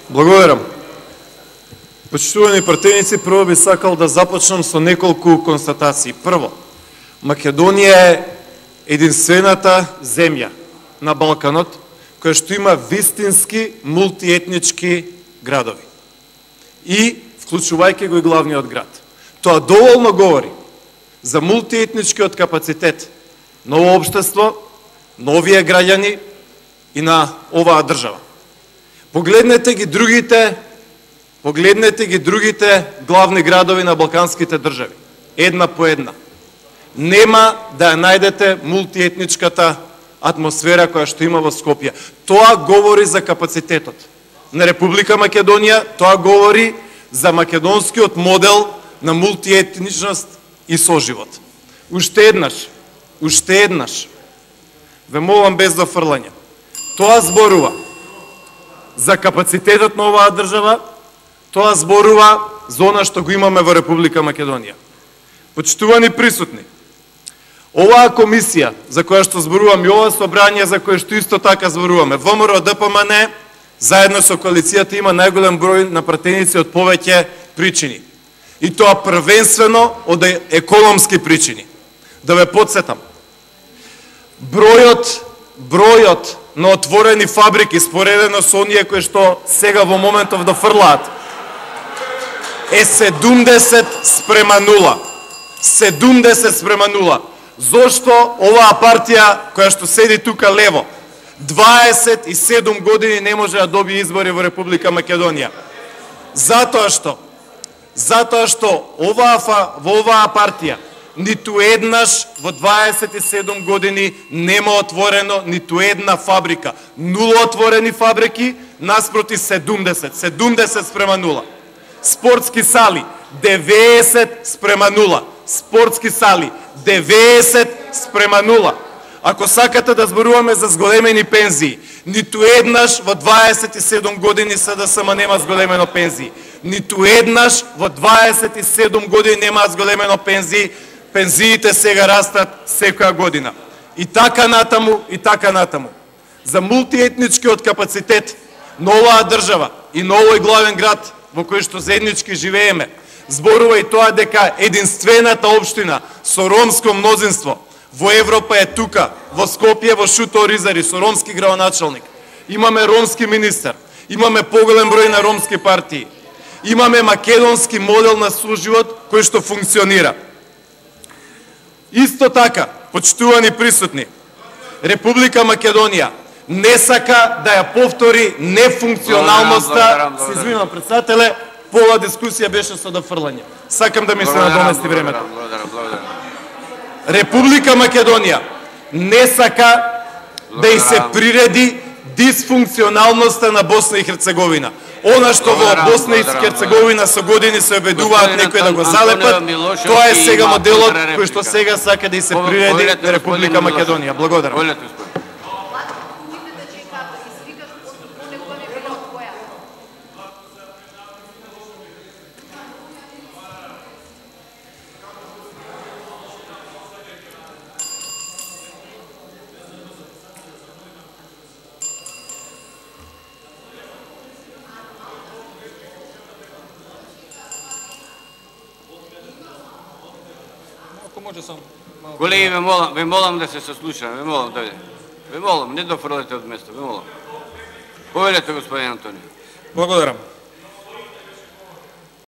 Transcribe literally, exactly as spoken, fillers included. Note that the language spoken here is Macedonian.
Благодарам. Почитувани пратеници, прво би сакал да започнам со неколку констатации. Прво, Македонија е единствената земја на Балканот која што има вистински мултиетнички градови. И вклучувајќи го и главниот град. Тоа доволно говори за мултиетничкиот капацитет на ово општество, на овие граѓани и на оваа држава. Погледнете ги другите, погледнете ги другите главни градови на балканските држави, една по една. Нема да ја најдете мултиетничката атмосфера која што има во Скопје. Тоа говори за капацитетот на Република Македонија, тоа говори за македонскиот модел на мултиетничност и соживот. Уште еднаш, уште еднаш, ве молам без дофрлање. Тоа зборува за капацитетот на оваа држава, тоа зборува за она што го имаме во Република Македонија. Почитувани присутни, оваа комисија за која што зборувам и ова собрание за која што исто така зборуваме, ВМРО ДПМН заедно со коалицијата има најголем број на пратеници од повеќе причини. И тоа првенствено од економски причини. Да ве потсетам, бројот, бројот на отворени фабрики споредено со оние кои што сега во моментов дофрлаат е седумдесет спрема нула. седумдесет спрема нула. Зошто оваа партија која што седи тука лево дваесет и седум години не може да добие избори во Република Македонија? Затоа што затоа што оваа во оваа партија ниту еднаш во дваесет и седум години нема отворено ниту една фабрика. Нула отворени фабрики наспроти седумдесет. седумдесет спрема нула. Спортски сали деветдесет спрема нула. Спортски сали деветдесет спрема нула. Ако сакате да зборуваме за зголемени пензии, ниту еднаш во дваесет и седум години СДСМ нема зголемено пензии. Ниту еднаш во дваесет и седум години нема зголемено пензии. Пензиите сега растат секоја година. И така натаму, и така натаму. За мултиетничкиот капацитет на оваа држава и на овој главен град во кој што заеднички живееме, зборува и тоа дека единствената општина со ромско мнозинство во Европа е тука, во Скопје, во Шуто Оризари, со ромски градоначалник. Имаме ромски министер, имаме поголем број на ромски партии, имаме македонски модел на соживот кој што функционира. Исто така, почитувани присутни, Република Македонија не сака да ја повтори нефункционалноста. Се извинувам, председателе, пола дискусија беше со дофрлање. Сакам да ми се надомести времето. Република Македонија не сака да и се приреди дисфункционалноста на Босна и Херцеговина. Она што во Босна и Херцеговина со години се обедуваат некои да го залепат, тоа е сега моделот кој што сега сака да и се приреди на Република Македонија. Благодарам. Колеги, ве молам, ве молам да се сослушаме, ве молам, дојде. Ве молам, не дофрлете од место, ве молам. Повелете, господин Антонио. Благодарам.